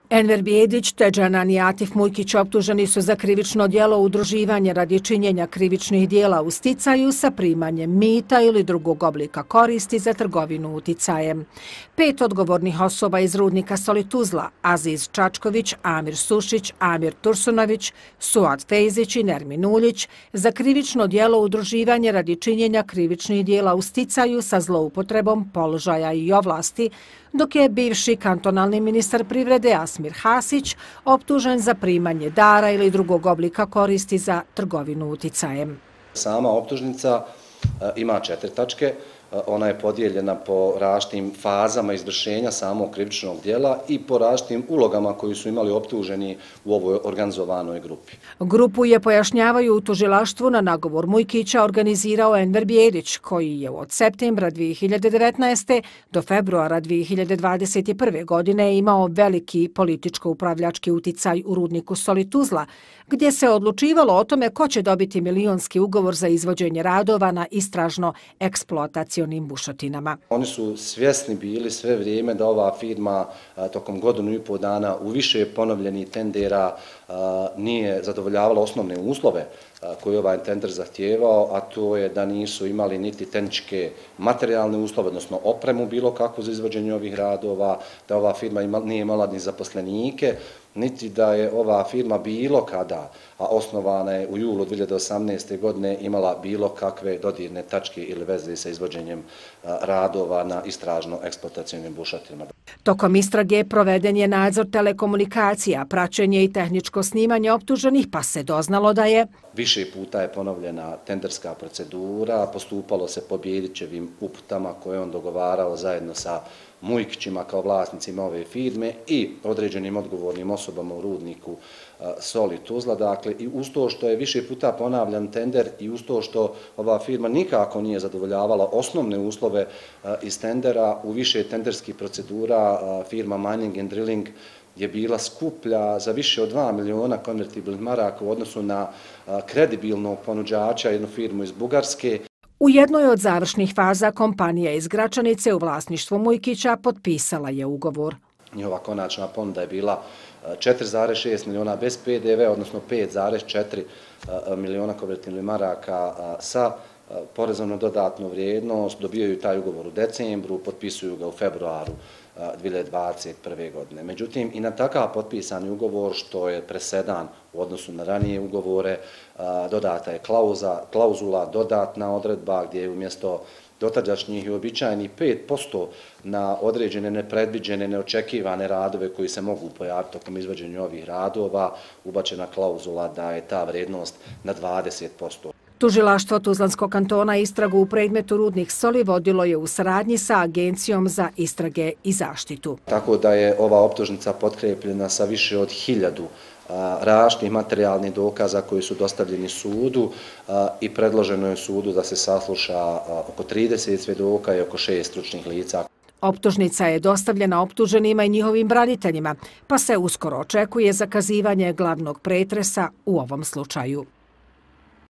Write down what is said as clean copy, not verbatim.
Enver Bijedić te Džanan i Atif Mujkić optuženi su za krivično djelo udruživanja radi činjenja krivičnih djela u sticaju sa primanjem mita ili drugog oblika koristi za trgovinu uticajem. 5 odgovornih osoba iz rudnika Soli Tuzla, Aziz Čačković, Amir Sušić, Amir Tursunović, Suad Fejzić i Nermin Uljić, za krivično djelo udruživanja radi činjenja krivičnih djela u sticaju sa zloupotrebom položaja i ovlasti, dok je bivši kantonalni ministar privrede Asmir Hasić optužen za primanje dara ili drugog oblika koristi za trgovinu uticajem. Sama optužnica ima 4 tačke. Ona je podijeljena po različitim fazama izvršenja samog krivičnog djela i po različitim ulogama koju su imali optuženi u ovoj organizovanoj grupi. Grupu je, pojašnjavaju u tužilaštvu, na nagovor Mujkića organizirao Enver Bijedić, koji je od septembra 2019. do februara 2021. godine imao veliki političko-upravljački uticaj u rudniku Soli Tuzla, gdje se odlučivalo o tome ko će dobiti milionski ugovor za izvođenje radova na istražno-eksploatacionim bušotinama. Oni su svjesni bili sve vrijeme da ova firma tokom godinu i pol dana u više ponovljenih tendera nije zadovoljavala osnovne uslove koje ovaj tender zahtijevao, a to je da nisu imali niti tehničke materijalne uslove, odnosno opremu bilo kakvu za izvođenje ovih radova, da ova firma nije imala ni zaposlenike, niti da je ova firma bilo kada, a osnovana je u julu 2018. godine, imala bilo kakve dodirne tačke ili veze sa izvođenjem radova na istražno-eksploatacionim bušotinama. Tokom istrage proveden je nadzor telekomunikacija, praćenje i tehničko snimanje optuženih, pa se doznalo da je više puta je ponovljena tenderska procedura, postupalo se po Bijedićevim uputama koje on dogovarao zajedno sa Mujkićima kao vlasnicima ove firme i određenim odgovornim osobama u rudniku Soli Tuzla. Dakle, i uz to što je više puta ponavljan tender i uz to što ova firma nikako nije zadovoljavala osnovne uslove iz tendera, u više tenderskih procedura firma Mining and Drilling je bila skuplja za više od 2 miliona konvertibilnih maraka u odnosu na kredibilnog ponuđača, jednu firmu iz Bugarske. U jednoj od završnih faza kompanija iz Gračanice u vlasništvu Mujkića potpisala je ugovor. Njihova konačna ponuda je bila 4,6 miliona bez PDV, odnosno 5,4 miliona konvertibilnih maraka sa porezom na dodatnu vrijednost. Dobijaju taj ugovor u decembru, potpisuju ga u februaru 2021. godine. Međutim, i na takav potpisani ugovor, što je presedan u odnosu na ranije ugovore, dodata je klauzula, dodatna odredba gdje je umjesto dotadašnjih i običajnih 5% na određene nepredviđene, neočekivane radove koji se mogu pojaviti tokom izvođenja ovih radova, ubačena klauzula da je ta vrijednost na 20%. Tužilaštvo Tuzlanskog kantona istragu u predmetu rudnik Soli vodilo je u saradnji sa Agencijom za istrage i zaštitu. Tako da je ova optužnica potkrepljena sa više od 1000 različitih materijalnih dokaza koji su dostavljeni sudu i predloženo je sudu da se sasluša oko 30 svjedoka i oko 6 stručnih lica. Optužnica je dostavljena optuženima i njihovim braniteljima, pa se uskoro očekuje zakazivanje glavnog pretresa u ovom slučaju.